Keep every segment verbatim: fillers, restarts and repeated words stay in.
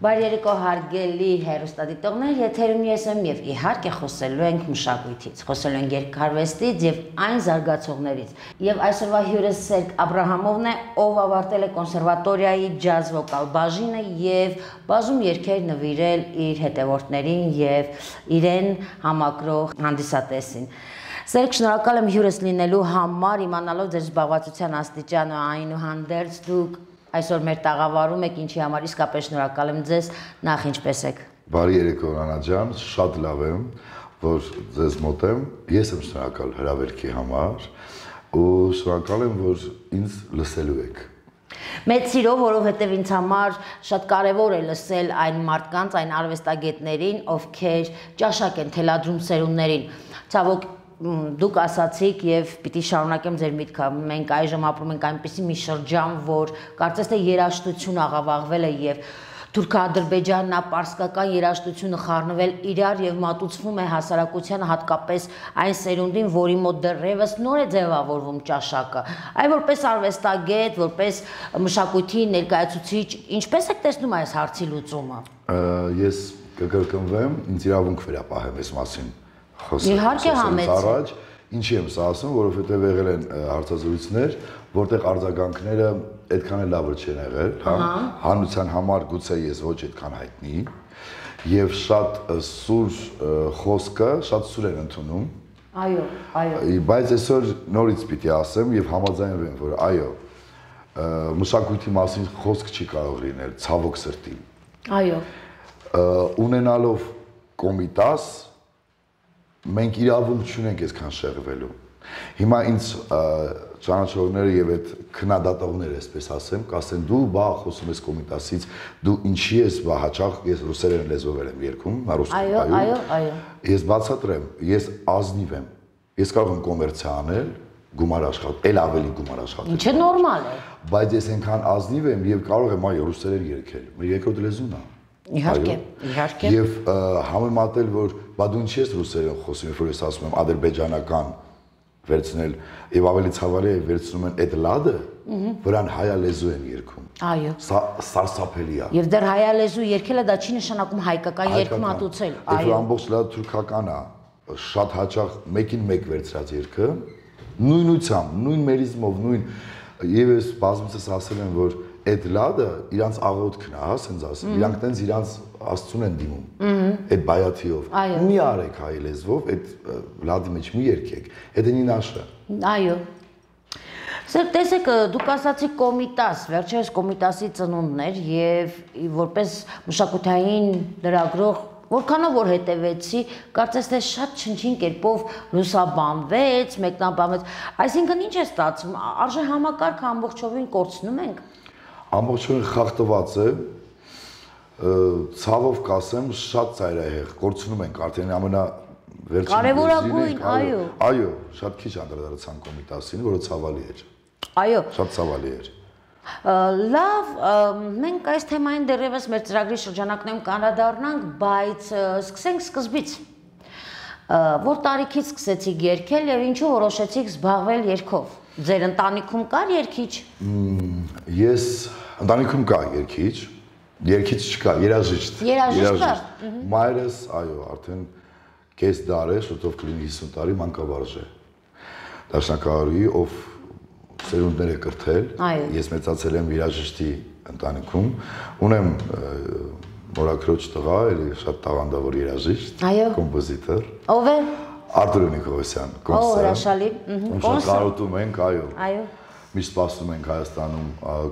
Բարի երեկո հարգելի հեռուստադիտողներ, եթերում ես եմ եւ իհարկե խոսելու ենք մշակույթից, խոսելու ենք երգարվեստից եւ այն զարգացողներից։ Եվ այսօրվա հյուրս Սերգ Աբրահամովն է, ով ավարտել է կոնսերվատորիայի ջազ վոկալ բաժինը եւ բազում երգեր նվիրել իր հետևորդներին եւ իրեն համակրող հանդիսատեսին։ Սերգ, շնորհակալ եմ հյուրս լինելու համար, իմանալով ձեր զբաղվածության աստիճանը, այնուհանդերձ դուք այսօր մեր տաղավարում եք, ինչի համար իսկապես շնորհակալ եմ ձեզ, նախ ինչպես եք։ Բարի երեկո Անա ջան, շատ լավ եմ, որ ձեզ մոտ եմ, ես եմ շնորհակալ հրավերքի համար ու շնորհակալ եմ, որ ինձ լսելու եք։ Մեծ սիրով, որովհետև ինձ համար շատ կարևոր է լսել այն մարդկանց, այն արվեստագետներին, ովքեր ճաշակ են թելադրում սերունդներին։ Ցավոք դուք ասացիք եւ պիտի շարունակեմ ձեր միտքը, մենք այժմ ապրում ենք այնպիսի մի շրջան, որ կարծես թե երաժշտություն աղավաղվել է եւ թուրք-ադրբեջանա-պարսկական երաժշտությունը խառնվել իրար եւ մատուցվում է հասարակությանը, հատկապես այն սերունդին, որի մոտ դեռևս նոր է ձևավորվում ճաշակը։ Այ որպես արվեստագետ, որպես մշակույթի ներկայացուցիչ, ինչպես եք տեսնում այս հարցի լուծումը։ Ես կկրկնվեմ, ինձ իրավունք վերապահեմ այս մասին։ Իհարկե համեցեք։ Ինչի եմ սա ասում, որովհետև եղել են հարցազրույցներ, որտեղ արձագանքները այդքան էլ լավը չեն եղել, հա, հանրության համար գուցե ես ոչ այդքան հայտնի, եւ շատ սուր խոսքը, շատ սուր են ընդունում։ Այո, այո։ Բայց այսօր նորից պիտի ասեմ եւ համաձայնվեմ, որ այո, մշակույթի մասին խոսք չի կարող լինել, ցավոք սրտի։ Այո։ Ունենալով կոմիտաս մենք իրավունք չունենք այսքան շեղվելու։ Հիմա ինձ ճանաչողները եւ այդ քննադատողները, այսպես ասեմ, կասեն դու բա խոսում ես կոմիտասից, դու ինչի ես բա հաճախ ես ռուսերեն լեզվով եմ երգում, ռուսերեն։ Այո, այո, այո։ Ես բացատրեմ, ես ազնիվ եմ։ Ես կարող եմ կոմերցիա անել, գումար աշխատել, ել ավելի գումար աշխատել։ Ինչը նորմալ է։ Բայց ես այնքան ազնիվ եմ եւ կարող եմ այո ռուսերեն երգել։ Մեր երկրորդ լեզուն է։ Իհարկե, իհարկե։ Եվ համեմատել, որ բա դու ինչի ես ռուսերեն խոսում, երբ որ ես ասում եմ ադրբեջանական վերցնել եւ ավելի ցավալի է վերցնում են այդ լադը, վրան հայալեզու են երգում։ Այո։ Սա սարսափելի է։ Եւ դեռ հայալեզու երգելը դա չի նշանակում հայկական երգ մատուցել։ Այո։ Ամբողջ լավ թուրքական է, շատ հաճախ մեկին մեկ վերցրած երգը, նույնությամբ, նույն մերիզմով, նույն եւ ես բազմիցս ասել եմ, որ այդ լադը իրանց աղոթքն է, հա, ասենց ասեմ, իրանք տենց իրանց աստծուն են դիմում, այդ բայաթիով, մի արեք հայ լեզվով, այդ լադի մեջ մի երգեք, այդ ինի նաշը։ Այո։ Սեր, տեսեք, դուք ասացիք կոմիտաս, վերջերս կոմիտասի ծնունդն էր եւ որպես մշակութային լրագրող, որքանով որ հետևեցի, կարծես թե շատ չնչին կերպով լուսաբանվեց, մեկնաբանվեց, այսինքն ինչ է ստացվում, արժե համակարգը ամբողջովին կորցնում ենք։ Ամբողջովին խախտված է, ցավով կասեմ, շատ ծայրահեղ, կորցնում ենք արդեն ամենա վերջին կարևորագույն, այո։ Այո, շատ քիչ անդրադարձան կոմիտասին, որը ցավալի էր։ Այո։ Շատ ցավալի էր։ Լավ, մենք այս թեմային դեռևս մեր ծրագրի շրջանակներում կանդրադառնանք, բայց սկսենք սկզբից։ Որ տարիքից սկսեցիք երգել եւ ինչու որոշեցիք զբաղվել երգով։ Ձեր ընտանիքում կար երգիչ։ Ես ընտանիքում կա երգիչ, երգիչ չկա, երաժիշտ։ Երաժիշտ կա։ Մայրս, այո, արդեն կես դար է, շուտով կլինի հիսուն տարի մանկավարժ է։ Դաշնակահարուհի, ով սերունդներ է կրթել։ Ես մեծացել եմ երաժշտի ընտանիքում, ունեմ մորաքրոջ տղա, էլի շատ տաղանդավոր երաժիշտ, կոմպոզիտոր։ Ով է։ Արտուր Նիկողոսյան, կոնսը։ Օ, հրաշալի։ Շատ կարոտում ենք, այո։ Այո։ Միշտ սպասում ենք Հայաստանում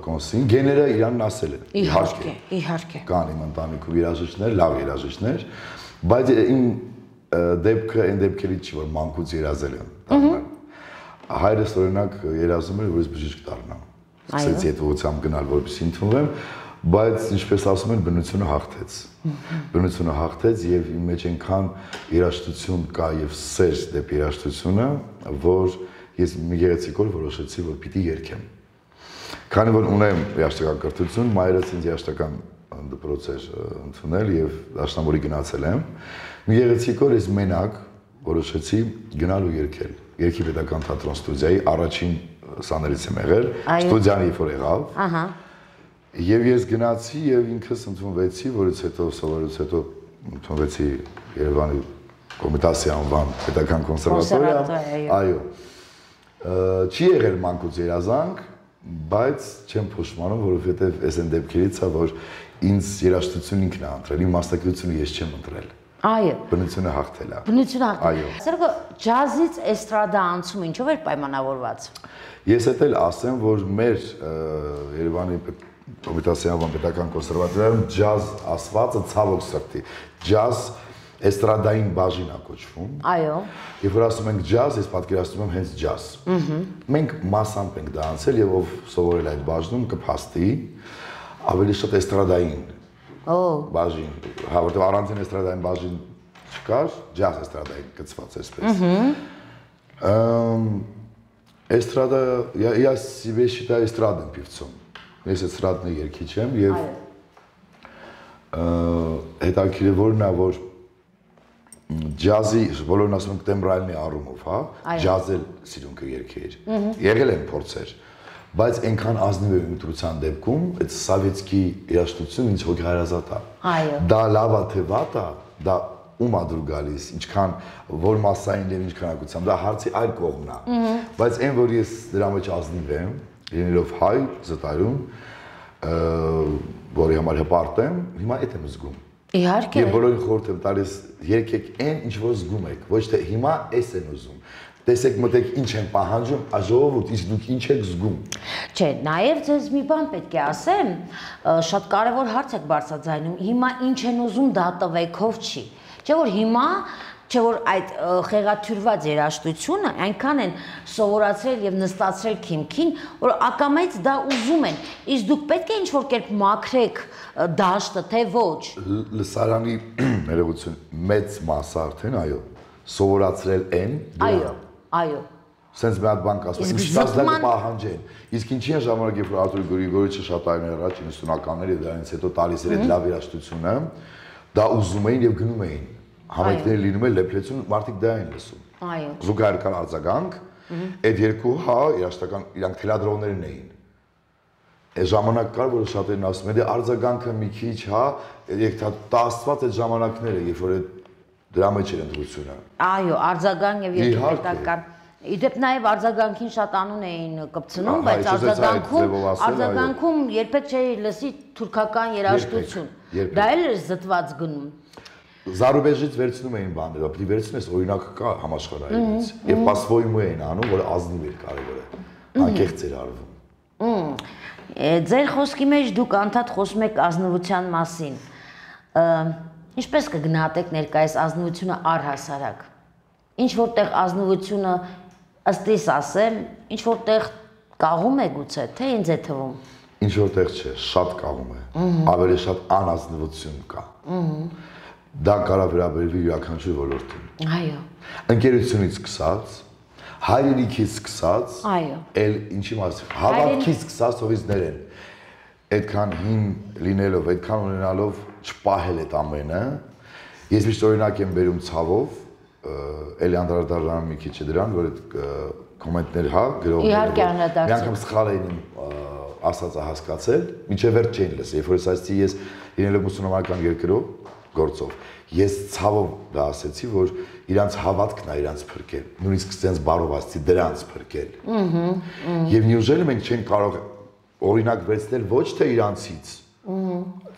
կոնսին, գեները իրանն ասել են։ Իհարկե, իհարկե։ Կան իմ ընտանիքում երաժիշտներ, լավ երաժիշտներ, բայց իմ դեպքը այն դեպքերից չի, որ մանկուց երազել եմ։ Հայրս օրինակ երազում էր, որ ես բժիշկ դառնամ։ Սկսեցի այդ ուղղությամբ գնալ, որպեսզի ընդունվեմ, բայց ինչպես ասում են, բնությունը հաղթեց։ Բնությունը հաղթեց եւ իմ մեջ այնքան երաժշտություն կա եւ սեր դեպի երաժշտությունը, որ ես մի գեղեցիկ օր որոշեցի, որ պիտի երգեմ։ Քանի որ ունեմ երաժշտական կրթություն, մայրս ինձ երաժշտական դպրոց էր ընդունել եւ դաշնամուրի գնացել եմ։ Մի գեղեցիկ օր ես մենակ որոշեցի գնալ ու երգել։ Երգի պետական թատրոն ստուդիայի առաջին սաներից եմ եղել, ստուդիան երբ որ եղավ։ Ահա։ Եվ ես գնացի եւ ինքս ընդունվեցի, որից հետո սովորից հետո ընդունվեցի Երևանի Կոմիտասի անվան պետական կոնսերվատորիա։ Այո։ Չի եղել մանկուց երազանք, բայց չեմ փոշմանում, որովհետեւ այս այն դեպքերից է, որ ինձ երաժշտություն ինքն է ընտրել, իմ մասնակցությունը ես չեմ ընտրել։ Այո։ Բնությունը հաղթել է։ Բնությունը հաղթել։ Այո։ Սերգո, ջազից էստրադա անցումը ինչով էր պայմանավորված։ Ես էլ ասեմ, որ մեր Երևանի Կոմիտասի անվան պետական կոնսերվատորիայում ջազ ասվածը ցավոք սրտի, ջազ էստրադային բաժին է կոչվում։ Այո։ Երբ որ ասում ենք ջազ, ես պատկերացնում եմ հենց ջազ։ Մենք մասամբ ենք դա անցել եւ ով սովորել այդ բաժնում կփաստի ավելի շատ էստրադային Օ։ բաժին, հա, որտեղ առանցին էստրադային բաժին չկար, ջազ էստրադային կցված էսպես։ Ըմ Էստրադա, я себе считаю эстрадным певцом։ Ես էստրադный երգիչ եմ եւ հետաքրքիր է որն է որ ջազի բոլորն ասում են տեմբրալնի առումով, հա, ջազել սիրուն կերգեր։ Եղել են փորձեր, բայց այնքան ազնիվ է ընտրության դեպքում, այդ սովետский երաժշտություն ինձ հոգեհարազատ է։ Այո։ Դա լավ է թե վատ է, դա ում ա դուր գալիս, ինչքան որ massային եւ ինչ քանակությամբ, դա հարցի այլ կողմն է։ Բայց այն որ ես դրա մեջ ազնիվ եմ, լինելով հայ, զտարում, որի համար հպարտ եմ, հիմա այդ եմ զգում։ Իհարկե։ Եվ բոլորին խորհուրդ եմ տալիս, երգեք այն, ինչ որ զգում եք, ոչ թե հիմա էս են ուզում։ Տեսեք մտեք ինչ են պահանջում, աժողովուրդ, իսկ դուք ինչ եք զգում։ Չէ, նաև ձեզ մի բան պետք է ասեմ, շատ կարևոր հարց եք բարձրաձայնում, հիմա ինչ են ուզում դա տվեքով չի։ Չէ որ հիմա, չէ որ այդ խեղաթյուրված երաժշտությունը այնքան են սովորացրել եւ նստացրել քիմքին, որ ակամայից դա ուզում են։ Իսկ դուք պետք է ինչ-որ կերպ մաքրեք դաշտը, թե ոչ։ Լսարանի ներողություն, մեծ մասը արդեն, այո, սովորացրել են։ Այո, այո։ Սենց մի հատ բան կասում, ինչ տասնյակ պահանջեն։ Իսկ ինչի են ժամանակ, երբ որ Արտուր Գրիգորիչը շատ տարիներ առաջ իննսունականների դրանից հետո տալիս էր այդ լավ երաժշտությունը, դա ուզում էին եւ գնում էին։ Համայնքները լինում են լեփլեցուն, մարդիկ դա են լսում։ Այո։ Զուգահեռական արձագանք, այդ երկու հա երաժշտական իրանք թելադրողներն էին։ Այս ժամանակ կար, որ շատերն ասում են, դե արձագանքը մի քիչ հա, եկթա տասված այդ ժամանակները, երբ որ դրա մեջ էր ընդրությունը։ Այո, արձագանք եւ երգետական։ Իդեպ նաև արձագանքին շատ անուն էին կպցնում, բայց արձագանքում արձագանքում երբեք չէի լսի թուրքական երաժշտություն։ Դա էլ էր զտված գնում։ Զարուբեժից վերցնում էին բաները, պիտի վերցնես օրինակը կա համաշխարհայինից։ Եվ պասվոյմու էին անում, որը ազնիվ էր կարևորը։ Անկեղծ էր արվում։ Ձեր խոսքի մեջ դուք անդադ խոսում եք ազնվության մասին։ Ինչպես կգնահատեք ներկայիս ազնվությունը առհասարակ։ Ինչ որտեղ ազնվությունը ըստ իս ասեմ, ինչ որտեղ կաղում է գուցե, թե ինձ է թվում։ Ինչ որտեղ չէ, շատ կաղում է։ Ավելի շատ անազնվություն կա։ Դա կարող վերաբերվի յուրաքանչյուր ոլորտին։ Այո։ Ընկերությունից սկսած, հայրենիքից սկսած, այո։ Էլ ինչի մասին, հավատքից սկսած թողիցներ են։ Այդքան հին լինելով, այդքան ունենալով չպահել այդ ամենը, ես միշտ օրինակ եմ բերում ցավով, էլի անդրադառնամ մի քիչ դրան, որ այդ կոմենտներ հա գրողները։ Իհարկե անդրադարձ։ Մի անգամ սխալ էին ասածը հասկացել, մինչև վերջ չէին լսել, երբ որ ասացի ես լինելով մուսուլմանական երկրով գործով, ես ցավով դա ասեցի, որ իրանց հավատքն է իրանց փրկել, նույնիսկ sense բարով ասեցի դրանց փրկել։ Եվ նյուժելը մենք չենք կարող օրինակ վերցնել ոչ թե իրանցից,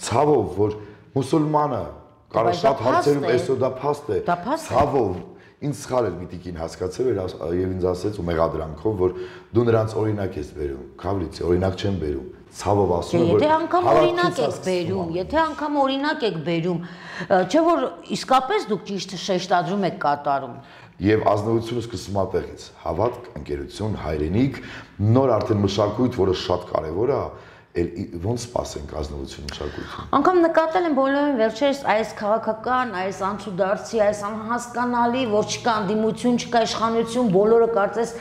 ցավով, որ մուսուլմանը Կարա շատ հարցերում այսօր դա փաստ է։ Ցավով ինձ սխալ էր մի տիկին հասկացել եւ ինձ ասեց ու մեղադրանքով, որ դու նրանց օրինակ ես բերում։ Քավլիցի օրինակ չեմ բերում։ Ցավով ասում եմ, որ եթե անգամ օրինակ եք բերում, եթե անգամ օրինակ եք բերում, չէ որ իսկապես դուք ճիշտ շեշտադրում եք կատարում։ Եվ ազնվությունը սկսվում է տեղից։ Հավատք, ընկերություն, հայրենիք, նոր արդեն մշակույթ, որը շատ կարեւոր է, ոնց սպասենք ազնվություն մշակույթին։ Անկամ նկատել եմ բոլորին վերջերս այս քաղաքական, այս անցուդարձի, այս անհասկանալի, որ չկա անդիմություն, չկա իշխանություն, բոլորը կարծես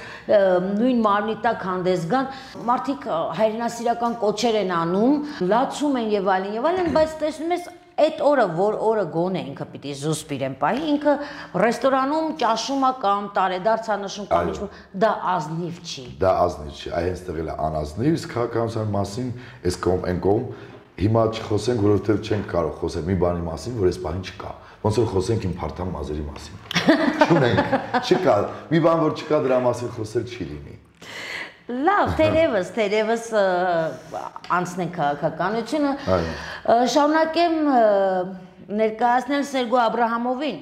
նույն մարմնի տակ հանդես գան, մարդիկ հայրենասիրական կոչեր են անում, լացում են եւ այլն եւ այլն, բայց տեսնում ես այդ օրը, որ օրը գոնե ինքը պիտի զուսպ իրեն պահի, ինքը ռեստորանում ճաշում է կամ տարեդարձ նշում կամ ինչ-որ, դա ազնիվ չի։ Դա ազնիվ չի, այ հենց տեղել է անազնիվ, իսկ քաղաքականության մասին այս կողմ այն կողմ հիմա չխոսենք, որովհետև չենք կարող խոսել մի բանի մասին, որ այս բանը չկա։ Ոնց որ խոսենք իմ փարթամ մազերի մասին։ Չունենք, չկա, մի բան որ չկա դրա մասին խոսել չի լինի։ Լավ, թերևս, թերևս անցնենք քաղաքականությունը, շարունակեմ ներկայացնել Սերգո Աբրահամովին,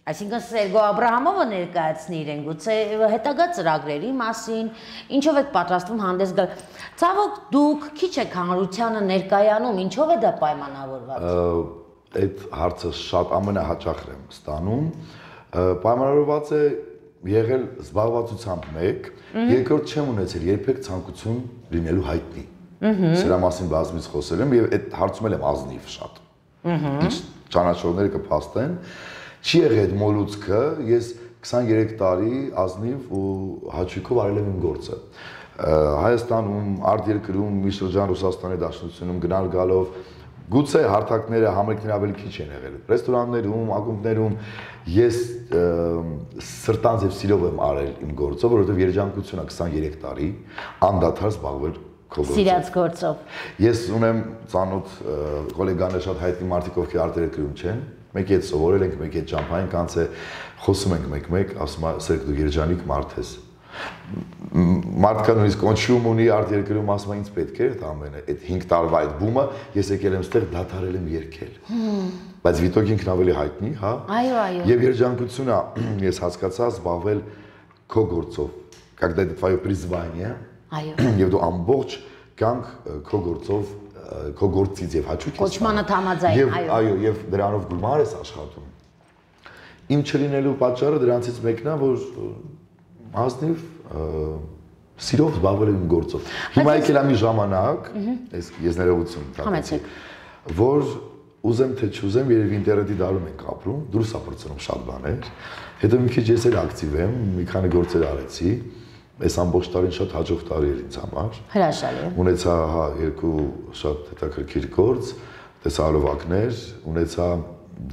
այսինքն Սերգո Աբրահամովը ներկայացնի իրեն գուցե հետագա ծրագրերի մասին, ինչով եք պատրաստվում հանդես գալ։ Ցավոք դուք քիչ եք հանրությանը ներկայանում, ինչով է դա պայմանավորված։ Այդ հարցը շատ ամենահաճախն եմ ստանում, պայմանավորված է եղել զբաղվածությամբ մեկ, երկրորդ չեմ ունեցել երբեք ցանկություն լինելու հայտնի։ Սրա մասին բազմից խոսել եմ եւ այդ հարցում եմ ազնիվ շատ։ Ինչ ճանաչողները կփաստեն, չի եղել այդ մոլուցքը, ես քսաներեք տարի ազնիվ ու հաճույքով արել եմ իմ գործը։ Հայաստանում, արտերկրում, մի շրջան Ռուսաստանի Դաշնությունում գնալ գալով գուցե հարթակները համերգները ավելի քիչ են եղել։ Ռեստորաններում, ակումբներում ես սրտանց եւ սիրով եմ արել իմ գործը, որովհետեւ երջանկությունը քսաներեք տարի անդադար զբաղվել քո գործով։ Սիրած գործով։ Ես ունեմ ծանոթ գոլեգաներ շատ հայտնի մարդիկ, ովքեր արտերկրում չեն, մեկի հետ սովորել ենք, մեկի հետ ճամփային կանց է, խոսում ենք մեկ-մեկ, ասում է Սերգ դու երջանիկ մարդ ես։ Մարդկա նույնիսկ կոնչում ունի արտերկրում ասում է ինձ պետք է այդ ամենը, այդ հինգ տարվա այդ բումը ես եկել եմ ստեղ դադարել եմ երգել։ Բայց Վիտոկ ինքն ավելի հայտնի, հա։ Այո, այո։ Եվ երջանկությունը ես հասկացա զբաղվել քո գործով, когда это твое призвание, այո։ Եվ դու ամբողջ կյանք քո գործով, քո գործից եւ հաճույք ես։ Կոչմանը համաձայն, այո։ Այո, եւ դրանով գումար ես աշխատում։ Իմ չլինելու պատճառը դրանցից մեկն է, որ ազնիվ սիրով զբաղվել եմ գործով։ Հիմա եկել է մի ժամանակ, ես ես ներողություն տալիս, որ ուզեմ թե չուզեմ, երևի ինտերնետի դարում ենք ապրում, դուրս է բրցնում շատ բաներ։ Հետո մի քիչ ես էլ ակտիվ եմ, մի քանի գործեր արեցի։ Այս ամբողջ տարին շատ հաջող տարի էր ինձ համար։ Հրաշալի է։ Ունեցա հա երկու շատ հետաքրքիր գործ, տեսահոլովակներ, ունեցա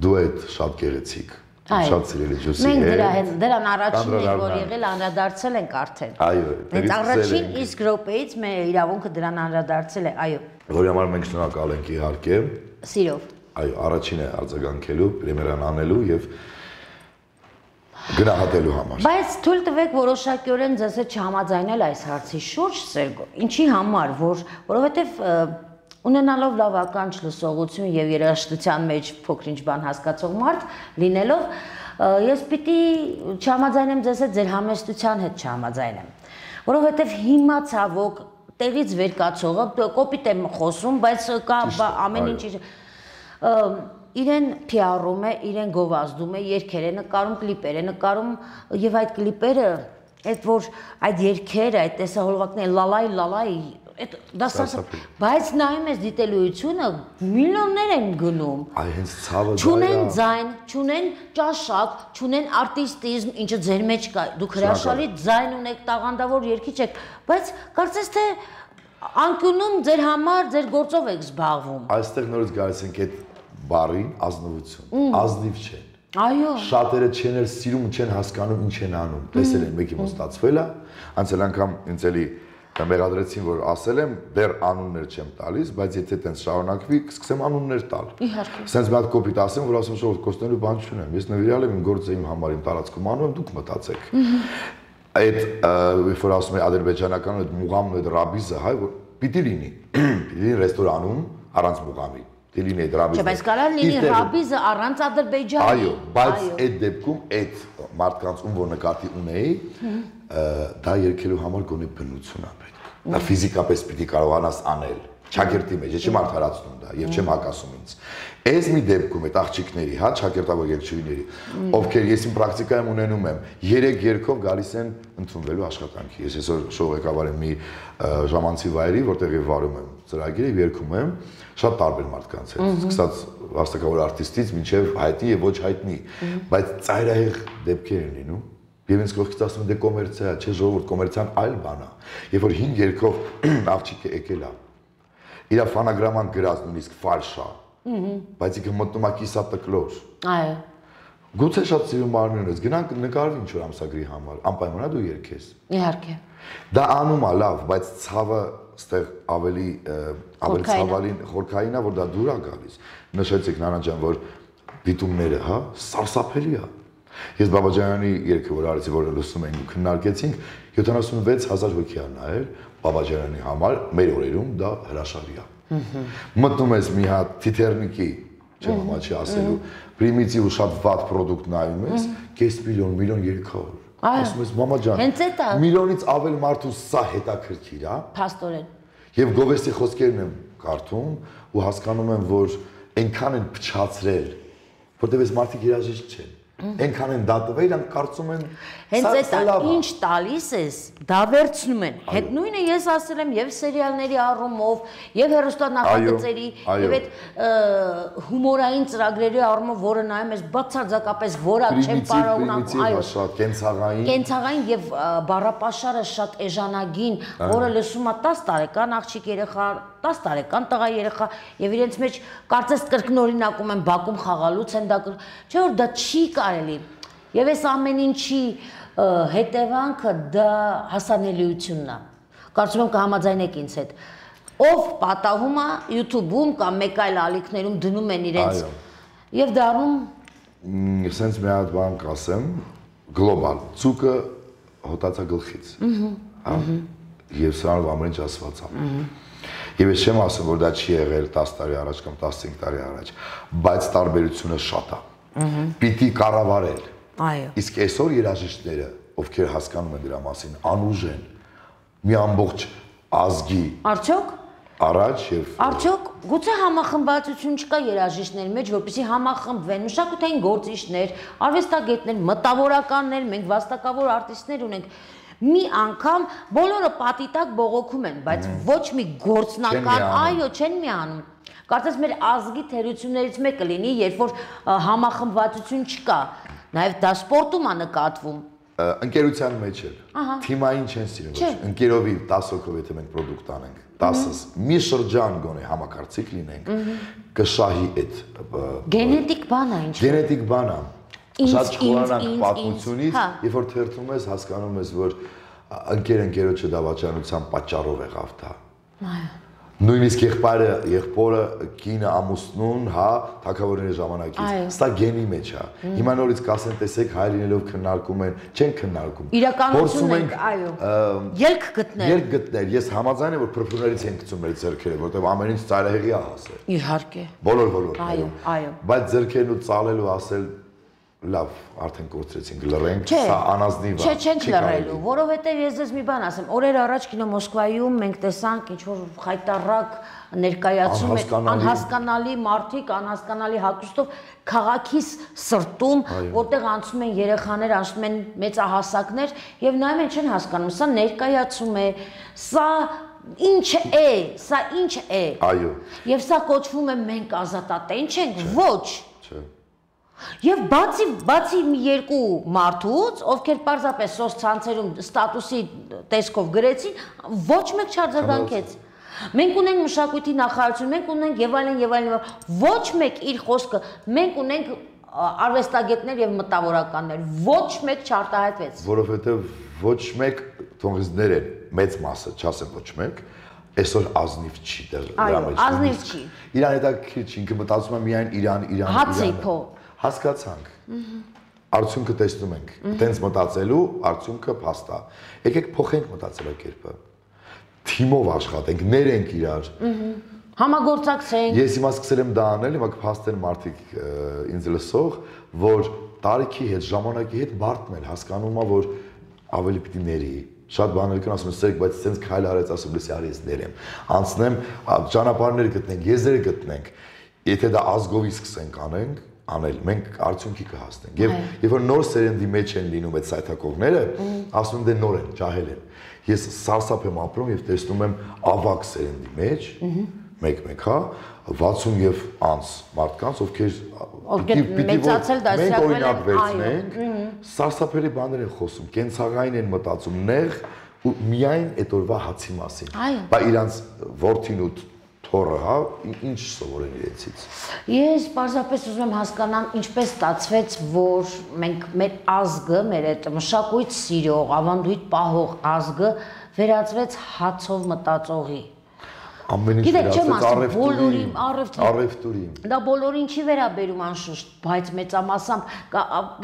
դուետ շատ գեղեցիկ։ Շատ սիրելի ջուսի է։ Մենք դրա հետ դրան առաջինն ենք, որ եղել անդրադարձել ենք արդեն։ Այո, հենց առաջին իսկ րոպեից մեր իրավունքը դրան անդրադարձել է, այո։ Որի համար մենք շնորհակալ ենք իհարկե։ Սիրով։ Այո, առաջինը արձագանքելու, պրեմիերան անելու եւ գնահատելու համար։ Բայց թույլ տվեք որոշակիորեն ձեզ հետ չհամաձայնել այս հարցի շուրջ, Սերգո։ Ինչի համար, որ որովհետեւ ունենալով լավ ականջ, լսողություն եւ երաժշտության մեջ փոքր-ինչ բան հասկացող մարդ լինելով, ես պիտի չհամաձայնեմ ձեզ հետ, ձեր համեստության հետ չհամաձայնեմ, որովհետեւ հիմա ցավոք տեղից վեր կացողը կոպիտ եմ խոսում, բայց կա ամեն ինչ իրեն փիառում է, իրեն գովազդում է, երգեր է նկարում, կլիպեր է նկարում եւ այդ կլիպերը, այդ որ այդ երգերը, այդ տեսահոլովակները լալայ լալայ այդ դասած, բայց նայում ես դիտելիությունը միլիոններ են գնում։ Այ հենց ցավը դա է։ Չունեն ձայն, չունեն ճաշակ, չունեն արտիստիզմ, ինչը ձեր մեջ կա։ Դուք հրաշալի ձայն ունեք, տաղանդավոր երգիչ եք, բայց կարծես թե անկյունում ձեր համար ձեր գործով եք զբաղվում։ Այստեղ նորից գալիս ենք այդ բառին ազնվություն, ազնիվ չեն։ Այո։ Շատերը չեն էլ սիրում, չեն հասկանում ինչ են անում։ Տեսել են մեկի մոտ ստացվել է, անցել անգամ ինձ էլի մեղադրեցին, որ ասել եմ, դեռ անուններ չեմ տալիս, բայց եթե տենց շարունակվի, կսկսեմ անուններ տալ։ Իհարկե։ Սենց մի հատ կոպիտ ասեմ, որ ասում շոտ կոստելու բան չունեմ։ Ես նվիրալ եմ իմ գործը իմ համար, իմ տարածքում անում եմ, դուք մտածեք։ Այդ երբ որ ասում եմ ադրբեջանական այդ մուղամն այդ ռաբիզը, հայ, որ պիտի լինի, պիտի լինի ռեստորանում առանց մուղամի։ Դիլին է դրաբիզը։ Չէ, բայց կարող լինի ռաբիզը առանց Ադրբեջանի։ Այո, բայց այդ դեպքում այդ մարդկանց ում որ նկատի ունեի, դա երկելու համար գոնե բնություն է պետք։ Դա ֆիզիկապես պիտի կարողանաս անել։ Չակերտի մեջ, ես չեմ արդարացնում դա եւ չեմ հակասում ինձ։ Այս մի դեպքում այդ աղջիկների, հա, չակերտավոր երգչուհիների, ովքեր ես իմ պրակտիկայում ունենում եմ, երեք երգով գալիս են ընդունվելու աշխատանքի։ Ես այսօր շոու ղեկավար եմ մի ժամանցի վայրի, որտեղ եւ վարում եմ ծրագիրը եւ երգում եմ շատ տարբեր մարդկանց հետ, սկսած վաստակավոր արտիստից մինչև հայտնի եւ ոչ հայտնի, բայց ծայրահեղ դեպքեր են լինում։ Եվ ինձ կողքից ասում են դե կոմերցիա, չէ ժողովուրդ, կոմերցիան այլ բան է։ Երբ որ հինգ երգով աղջիկը եկել է, իր ֆանագրաման գրած նույնիսկ ֆալշ է, Բայց ինքը մտնում է կիսատկլոր։ Այո։ Գուցե շատ սիրում մարմին ունես, գնանք նկարվի ինչ որ ամսագրի համար, անպայման դու երգես։ Իհարկե։ Դա անում է լավ, բայց ցավը ստեղ ավելի ավելի ցավալին խորքային է, որ դա դուր է գալիս։ Նշեցիք Նանա ջան, որ դիտումները, հա, սարսափելի է։ Ես Բաբաջանյանի երգը որ արեցի, որ լսում ենք ու քննարկեցինք, յոթանասունվեց հազար հոգի ա նայել Բաբաջանյանի համար, մեր օրերում դա հրաշալի է։ Մտնում ես մի հատ թիթեռնիկի, չեմ համաչի ասելու, պրիմիտիվ ու շատ վատ պրոդուկտ նայում ես, կես միլիոն, միլիոն երեք հարյուր։ Ասում ես մամա ջան, միլիոնից ավել մարդու սա հետաքրքիր է։ Փաստորեն։ Եվ Գովեստի խոսքերն եմ կարդում ու հասկանում եմ, որ այնքան են փչացրել, որտեղ այս մարդիկ երաժիշտ չեն։ Այնքան են դատվել, իրանք կարծում են հենց այդ ինչ տալիս ես, դա վերցնում են։ Հետ նույնը ես ասել եմ եւ սերիալների առումով, եւ հեռուստանախագծերի, եւ այդ հումորային ծրագրերի առումով, որը նայում ես բացարձակապես որակ չեմ կարողանում, այո, շատ կենցաղային։ Կենցաղային եւ բառապաշարը շատ էժանագին, որը լսում է տասը տարեկան աղջիկ երեխա, տասը տարեկան տղա երեխա եւ իրենց մեջ կարծես կրկնօրինակում են բակում խաղալուց են դա, չէ՞ որ դա չի կարելի։ Եվ այս ամեն ինչի հետևանքը դա հասանելիությունն է։ Կարծում եմ կհամաձայնեք ինձ հետ։ Ով պատահում է YouTube-ում կամ մեկ այլ ալիքներում դնում են իրենց եւ դառնում սենց մի հատ բան կասեմ, գլոբալ, ցուկը հոտացա գլխից։ Հա։ Եվ սրանով ամեն ինչ ասված է։ Եվ ես չեմ ասում, որ դա չի եղել տասը տարի առաջ կամ տասնհինգ տարի առաջ, բայց տարբերությունը շատ է։ Պիտի կառավարել։ Այո։ Իսկ այսօր երաժիշտները, ովքեր հասկանում են դրա մասին, անուժ են մի ամբողջ ազգի Արդյոք առաջ եւ Արդյոք գուցե համախմբվածություն չկա երաժիշտների մեջ, որպեսզի համախմբվեն մշակութային գործիչներ, արվեստագետներ, մտավորականներ, մենք վաստակավոր արտիստներ ունենք։ Մի անգամ բոլորը պատի տակ բողոքում են, բայց ոչ մի գործնական, այո, չեն միանում։ Կարծես մեր ազգի թերություններից մեկը լինի, երբ որ համախմբվածություն չկա, նաև դա սպորտում է նկատվում։ Ընկերության մեջ էլ, թիմային չեն սիրում, ընկերովի տասը հոգով եթե մենք պրոդուկտ անենք, տասս, մի շրջան գոնե համակարծիք լինենք, կշահի այդ գենետիկ բան է ինչ։ Գենետիկ բան է։ Շատ չխորանանք պատմությունից, երբ որ թերթում ես, հասկանում ես, որ ընկեր-ընկերոջը դավաճանության պատճառով եղավ դա։ Նույնիսկ եղբայրը, եղբորը, կինը, ամուսնուն, հա, թագավորների ժամանակից։ Սա գենի մեջ է։ Հիմա նորից կասեն, տեսեք, հայր լինելով քննարկում են, չեն քննարկում։ Իրականություն ենք, այո։ Ելք գտնել։ Ելք գտնել։ Ես համաձայն եմ, որ փրփուրներից են գցում մեր ձեռքերը, որտեղ ամեն ինչ ծայրահեղի է հասել։ Իհարկե։ Բոլոր բոլոր։ Այո, այո։ Բայց ձեռքերն ու ծալելու ասել լավ, արդեն կորցրեցինք, լռենք, սա անազնիվ է։ Չէ, չենք լռելու, որովհետև ես ձեզ մի բան ասեմ, օրեր առաջ կինո Մոսկվայում մենք տեսանք ինչ-որ խայտառակ ներկայացում են անհասկանալի մարդիկ, անհասկանալի հագուստով քաղաքիս սրտում, որտեղ անցնում են երեխաներ, անցնում են մեծահասակներ եւ նայում են չեն հասկանում, սա ներկայացում է, սա ինչ է, սա ինչ է։ Այո։ Եվ սա կոչվում է մենք ազատատենչ ենք, ոչ։ Չէ։ Եվ բացի բացի մի երկու մարդուց, ովքեր պարզապես սոցցանցերում ստատուսի տեսքով գրեցին, ոչ մեկ չարձագանքեց։ Մենք ունենք մշակույթի նախարարություն, մենք ունենք եւ այլն եւ այլն, ոչ մեկ իր խոսքը, մենք ունենք արվեստագետներ եւ մտավորականներ, ոչ մեկ չարտահայտվեց։ Որովհետեւ ոչ մեկ թողիզներ են, մեծ մասը, չասեմ ոչ մեկ, այսօր ազնիվ չի դեռ դրա մեջ։ Այո, ազնիվ չի։ Իրան հետաքրքիր չի, ինքը մտածում է միայն Իրան, Իրան, Իրան։ Հացի փո։ Հասկացանք։ Արդյունքը տեսնում ենք։ Տենց մտածելու արդյունքը փաստ է։ Եկեք փոխենք մտածելակերպը։ Թիմով աշխատենք, ներենք իրար։ Համագործակցենք։ Ես հիմա սկսել եմ դա անել, հիմա կփաստեն մարդիկ ինձ լսող, որ տարիքի հետ, ժամանակի հետ բարդն են, հասկանում է, որ ավելի պիտի ների։ Շատ բաներ կան ասում են, սերկ, բայց սենց քայլ արեց, ասում լսի արի ես ներեմ։ Անցնեմ, ճանապարհներ գտնենք, եզրեր գտնենք։ Եթե դա ազգովի սկսենք անենք, անել, մենք արդյունքի կհասնենք։ Եվ երբ որ նոր սերնդի մեջ են լինում այդ սայթակողները, ասում են դե նոր են, ջահել են։ Ես սարսափ եմ ապրում եւ տեսնում եմ ավակ սերնդի մեջ, մեկ-մեկ, հա, վաթսուն եւ անց մարդկանց, ովքեր մեծացել դասյակվել են, վերցնենք, սարսափելի բաներ են խոսում, կենցաղային են մտածում, նեղ ու միայն այդ օրվա հացի մասին։ Բա իրանց որդին ու թորը, հա, ինչ սովորեն իրենցից։ Ես պարզապես ուզում եմ հասկանամ, ինչպես ստացվեց, որ մենք մեր ազգը, մեր այդ մշակույթ սիրող, ավանդույթ պահող ազգը վերածվեց հացով մտածողի։ Ամեն ինչ վերածվեց առևտուրի, առևտուրի։ Դա բոլորին չի վերաբերում անշուշտ, բայց մեծամասամբ,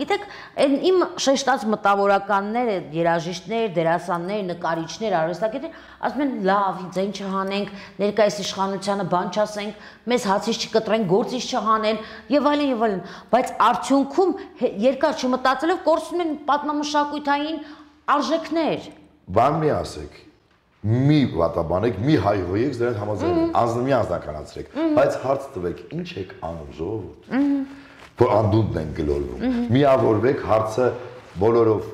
գիտեք, այն իմ շեշտած մտավորականները, երաժիշտներ, դերասաններ, նկարիչներ, արվեստագետներ, ասում են լավ, ինձ այն չհանենք, ներկայիս իշխանությանը բան չասենք, մեզ հացից չկտրեն, գործից չհանեն եւ այլն եւ այլն, բայց արդյունքում երկար չմտածելով կորցնում են պատմամշակութային արժեքներ։ Բան մի ասեք։ Մի վատաբանեք, մի հայհոյեք, դրանք համաձայն անձնամի անձնականացրեք, բայց հարց տվեք, ինչ եք անում ժողովուրդ, որ անդունդն են գլորվում, միավորվեք, հարցը բոլորով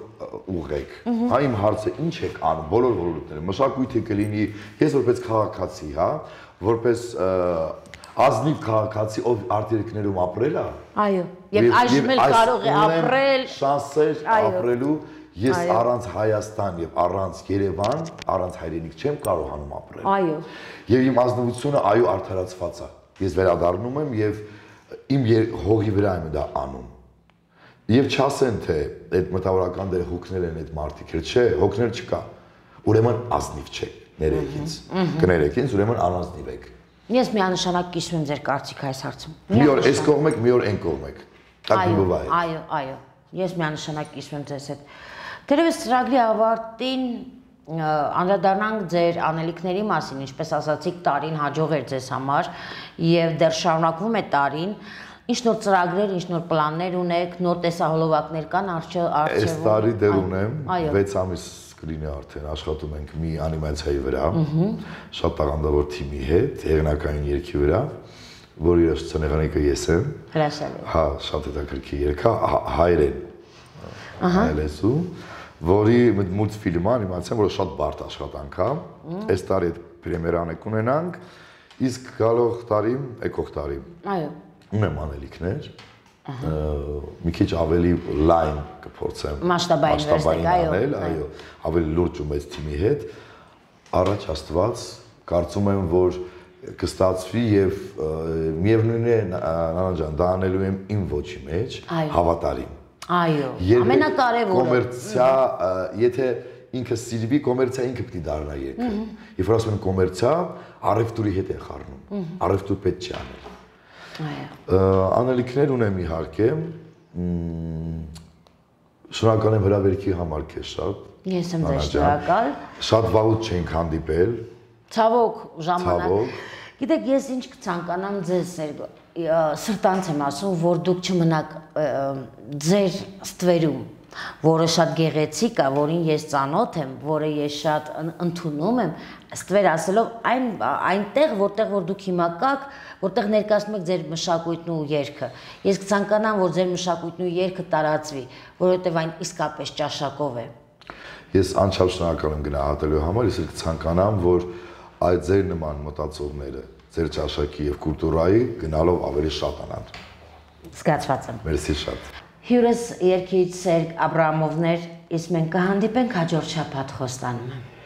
ուղղեք, հա իմ հարցը ինչ եք անում, բոլոր ոլորտները, մշակույթը կլինի, ես որպես քաղաքացի, հա, որպես ազնիվ քաղաքացի, ով արտերկրներում ապրել է, այո, եւ այժմ էլ կարող է ապրել, շանսեր ապրելու Ես առանց Հայաստան եւ առանց Երևան, առանց հայրենիք չեմ կարողանում ապրել։ Այո։ Եվ իմ ազնվությունը այո արդարացված է։ Ես վերադառնում եմ եւ իմ հողի վրա եմ դա անում։ Եվ չասեն թե այդ մտավորական դեր հոգնել են այդ մարդիկ, չէ, հոգնել չկա։ Ուրեմն ազնիվ չեք, ներեք ինձ։ Կներեք ինձ, ուրեմն անազնիվ եք։ Ես միանշանակ կիսում եմ ձեր կարծիքը այս հարցում։ Մի օր այս կողմ եք, մի օր այն կողմ եք։ Այո, այո, այո։ Ես միանշանակ կիսում եմ ձեզ հետ։ Դերևս ծրագրի ավարտին անդրադառնանք ձեր անելիքների մասին, ինչպես ասացիք, տարին հաջող էր ձեզ համար եւ դեռ շարունակվում է տարին։ Ինչ նոր ծրագրեր, ինչ նոր պլաններ ունեք, նոր տեսահոլովակներ կան արժևում։ Այս տարի դեռ ունեմ վեց ամիս կլինի արդեն աշխատում ենք մի անիմացիայի վրա, շատ տաղանդավոր թիմի հետ, հեղինակային երգի վրա, որ իր սցենարնիկը ես եմ։ Հրաշալի։ Հա, շատ հետաքրքիր երգ է, հայերեն։ Հայերենսու որի մուլտֆիլմ անիմացիա, որը շատ բարդ աշխատանք է, այս տարի այդ պրեմիերան եք ունենանք, իսկ գալող տարի, եկող տարի այո ունեմ անելիքներ, մի քիչ ավելի լայն կփորձեմ մասշտաբային անել, այո, ավելի լուրջ ու մեծ թիմի հետ, առաջ Աստված, կարծում եմ, որ կստացվի եւ միևնույն է Նանա ջան, դա անելու եմ իմ ոչի մեջ, հավատարիմ Այո, ամենակարևորը։ Կոմերցիա, եթե ինքը սիրվի, կոմերցիա ինքը պիտի դառնա երգը։ Երբ որ ասում են կոմերցիա, առևտուրի հետ են խառնում։ Առևտուր պետք չի անել։ Այո։ Անելիքներ ունեմ իհարկե։ Շնորհակալ եմ հրավերքի համար քեզ շատ։ Ես եմ ձեզ շնորհակալ։ Շատ վաղուց չենք հանդիպել։ Ցավոք ժամանակ։ Գիտեք, ես ինչ կցանկանամ ձեզ սրտանց եմ ասում, որ դուք չմնաք ձեր ստվերում, որը շատ գեղեցիկ է, որին ես ծանոթ եմ, որը ես շատ ընդունում եմ, ստվեր ասելով այն այնտեղ, որտեղ որ դուք հիմա կաք, որտեղ ներկայացնում եք ձեր մշակույթն ու երգը։ Ես կցանկանամ, որ ձեր մշակույթն ու երգը տարածվի, որովհետև այն իսկապես ճաշակով է։ Ես անչափ շնորհակալ եմ գնահատելու համար, ես կցանկանամ, որ այդ ձեր նման մտածողները ձեր ճաշակի եւ կուլտուրայի գնալով ավելի շատանան։ Զգացված եմ։ Մերսի շատ։ Հյուրս երգիչ Սերգ Աբրահամովն էր, իսկ մենք կհանդիպենք հաջորդ շաբաթ Խոստանում եմ։